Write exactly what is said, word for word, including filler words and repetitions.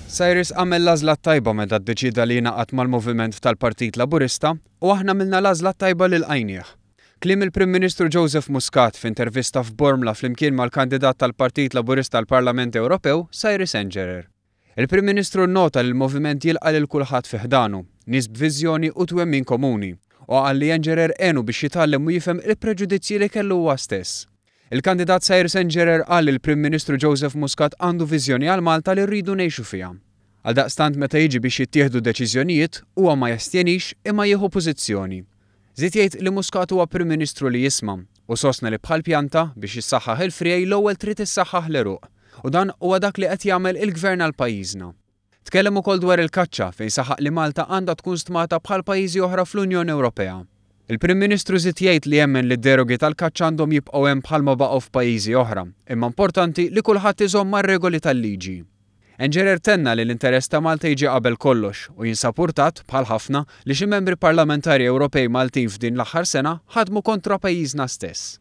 Cyrus għamel l-għażla tajba meta ddeċida li jingħaqad mal-moviment tal-Partit Laburista u aħna għamilna l-għażla tajba li lqajnieh. Kliem il-Prim Ministru Joseph Muscat f'intervista f'Bormla flimkien mal-kandidat tal-Partit Laburista għall-Parlament Ewropew, Cyrus Engerer. Il-Prim Ministru nnota li l-moviment jilqa' lil kulħadd fi ħdanu, nies b'viżjoni u twemmin komuni, u qal li Engerer għenu biex jitgħallem u jifhem il-preġudizzji li kellu huwa stess. Il-kandidat Cyrus Engerer qal li l-Prim Ministru Joseph Muscat għandu viżjoni għal Malta li rridu ngħixu fiha. Għaldaqstant meta jiġi biex jittieħdu deċiżjonijiet, huwa ma jastjenix imma jieħu pożizzjoni. Żied jgħid li Muscat huwa Prim Ministru li jisma' u sostna li bħal pjanta biex jissaħħaħ il-friegħi l-ewwel trid issaħħaħ l-għeruq. U dan huwa dak li qed jagħmel il-gvern għal pajjiżna. Tkellem ukoll dwar il-kaċċa fejn saħaq li Malta għandha tkun stmata bħal pajjiżi oħra fl-Unjoni Ewropea. Il-Prim Ministru żied jgħid li jemmen li d-derogi tal-kaċċa għandhom jibqgħu hemm bħalma baqgħu f'pajjiżi oħra, imma importanti li kulħadd iżomm mar-regoli tal-liġi. Engerer tenna li l-interess ta' Malta jiġi qabel kollox u jinsab urtat bħal ħafna li xi membri parlamentari Ewropej Maltin f'din l-aħħar sena ħadmu kontra pajjiżna stess.